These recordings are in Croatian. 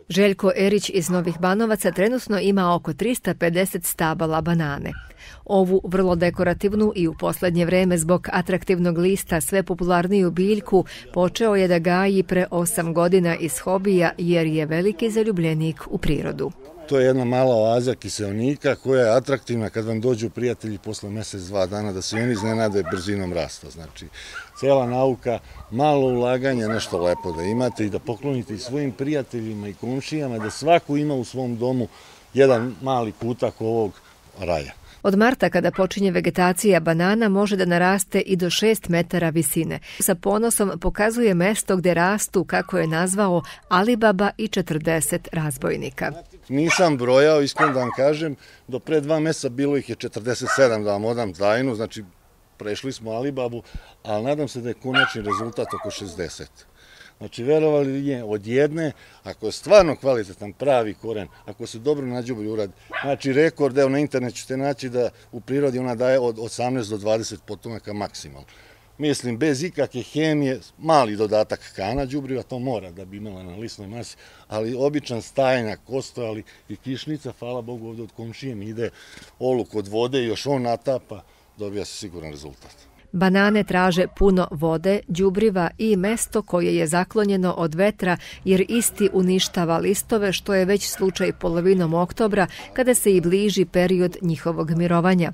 Željko Erić iz Novih Banovaca trenutno ima oko 350 stabala banane. Ovu vrlo dekorativnu i u posljednje vreme zbog atraktivnog lista sve popularniju biljku počeo je da gaji pre 8 godina iz hobija jer je veliki zaljubljenik u prirodu. To je jedna mala oaza kiseonika koja je atraktivna kad vam dođu prijatelji posle mjesec, 2 dana da se oni iznenade brzinom rasta. Znači, cijela nauka, malo ulaganja, nešto lepo da imate i da poklonite i svojim prijateljima i komšijama, da svako ima u svom domu jedan mali kutak ovog raja. Od marta kada počinje vegetacija banana može da naraste i do 6 metara visine. Sa ponosom pokazuje mesto gde rastu, kako je nazvao, Alibaba i 40 razbojnika. Nisam brojao, iskreno da vam kažem, do pre 2 mjeseca bilo ih je 47, da vam odam tajnu, znači prešli smo Alibabu, ali nadam se da je konačni rezultat oko 60. Znači, verovali li od jedne, ako je stvarno kvalitetan pravi koren, ako se dobro nađubri uradi, znači rekord, evo na internetu ćete naći da u prirodi ona daje od 18 do 20 potomaka maksimalno. Mislim, bez ikakve hemije, mali dodatak kana đubriva, to mora da bi imala na lisnoj masi, ali običan stajnjak, kostojali i kišnica, hvala Bogu, ovdje od komšije mi ide oluk od vode i još on natapa, dobija se siguran rezultat. Banane traže puno vode, đubriva i mesto koje je zaklonjeno od vetra jer isti uništava listove, što je već slučaj polovinom oktobra kada se i bliži period njihovog mirovanja.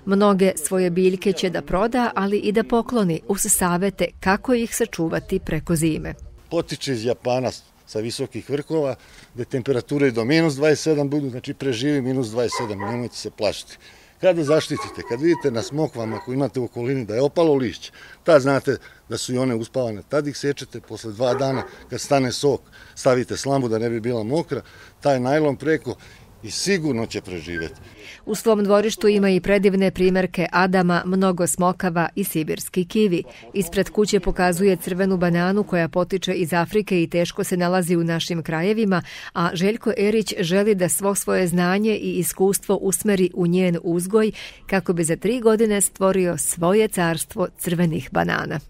Mnoge svoje biljke će da proda, ali i da pokloni uz savete kako ih sačuvati preko zime. Potiče iz Japana sa visokih vrhova, gde temperature do minus 27 budu, znači preživi minus 27, nemojte se plašiti. Kada zaštitite, kad vidite na smokvama ako imate u okolini da je opalo lišće, tad znate da su i one uspavane. Tad ih sečete posle 2 dana, kad stane sok, stavite slambu da ne bi bila mokra, taj najlon preko i sigurno će preživjeti. U svom dvorištu ima i predivne primjerke Adama, mnogo smokava i sibirski kivi. Ispred kuće pokazuje crvenu bananu koja potiče iz Afrike i teško se nalazi u našim krajevima, a Željko Erić želi da svo svoje znanje i iskustvo usmeri u njen uzgoj kako bi za 3 godine stvorio svoje carstvo crvenih banana.